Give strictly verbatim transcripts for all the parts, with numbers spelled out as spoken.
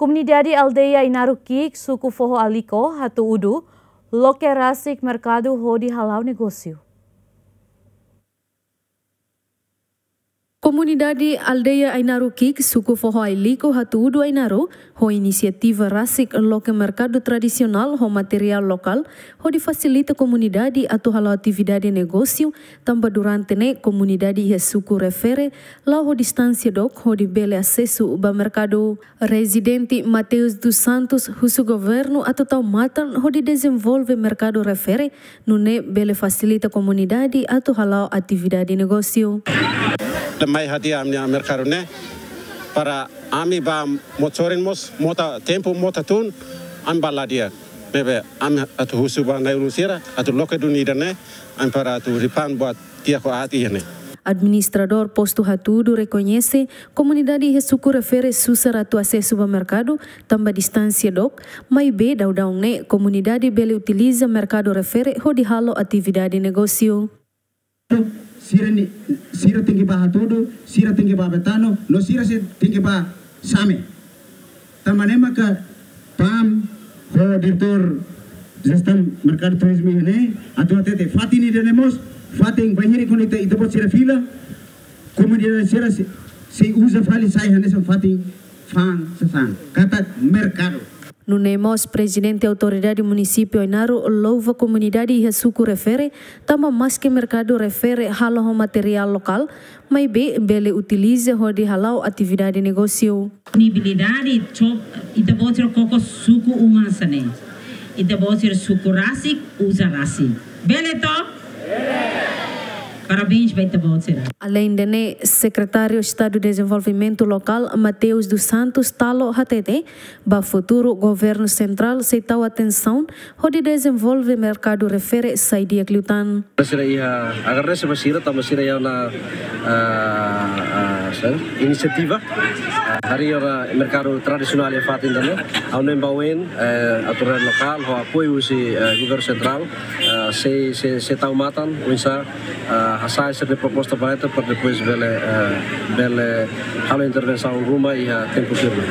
Komunidade aldeia Ainaro Ki'ik, suku Foho Ailliko, Hatu Udu, loke rasik merkadu hodi hala'o negósiu. Komunidade aldeia Ainaro Ki'ik, suku Foho Ailliko, Hatu Udu, Ainaro, ho inisiativa rasik loke merkadu tradisionál ho materiál lokál, hodi fasilita komunidade atu hala'o atividade negósiu, tanba durante ne'e komunidade iha suku refere la'o ho distánsia dook hodi bele asesu ba merkadu. Prezidente Mateus dos Santos husu governu atu tau matan hodi dezenvolve merkadu refere, nune'e bele fasilita komunidade atu hala'o atividade negósiu. Lemai hadi'a ami-nia merkadu ne'e, para ami bá mós sorin mós mota tempu mota tun, ami bá la di'ak. Ne'ebé ami atu husu ba na'i-ulun sira atu loke duni ida-ne'e, ami para atu ripan buat tiha ho aat iha ne'e. Administradór postu Hatu Udu rekoñese komunidade iha suku refere susar atu asesu ba merkadu, tanba distánsia dook, maibé daudaun ne'e komunidade bele utiliza merkadu refere hodi halo atividade negósiu. Sira ni, sira tenke bá Hatu Udu, sira tenke bá Betano, no sira sei tenke bá Same. Tanba ne'e maka PAM ho diretór jestaun merkadu turizmu iha ne'e atu hatete fatin ida-ne'e mós, fatin bainhira kuandu ita, ita-boot sira fila, komunidade sira sei, sei uza fali sai hanesan fatin fa'an sasán. Katak merkadu. Nune'e mós Prezidente Autoridade Munisípiu Ainaro louva komunidade iha suku refere, tanba maske merkadu refere halo ho materiál lokál, maibé bele utiliza hodi hala'o atividade negósiu. Disponibilidade, ita-boot sira koko suku uma hanesan ne'e. Ita-boot sira suku rasik, uza rasik. Bele to? Parabéns ba ita-boot sira. Aleinde ne'e, Sekretáriu Estadu Dezenvolvimentu Lokál, Mateus dos Santos Talo hatete, ba futuru governu sentrál sei tau atensaun hodi dezenvolve merkadu refere sai di'ak liután. Sira iha, agradese ba sira, tanba sira iha ona, ah, ah, sá, inisiativa, ah, harii ona merkadu tradisionál iha fatin ida-ne'e, ha'u hanoin ba oin, eh, autoridade lokál, ho apoiu husi, eh, governu sentrál, eh, sei, sei, sei tau matan, oinsá, eh, hasa'e sira-nia proposta ba ita, para depois bele, eh, bele halo intervensaun ruma iha tempu firme.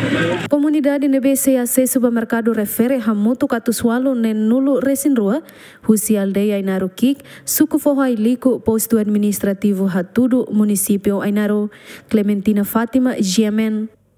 Komunidade ne'ebé sei asesu ba merkadu refere hamutuk atus ualu neen-nulu resin rua, husi aldeia Ainaro Ki'ik, suku Foho Ailliko, postu administrativu Hatu Udu, munisípiu Ainaro. Clementina Fátima, G M N.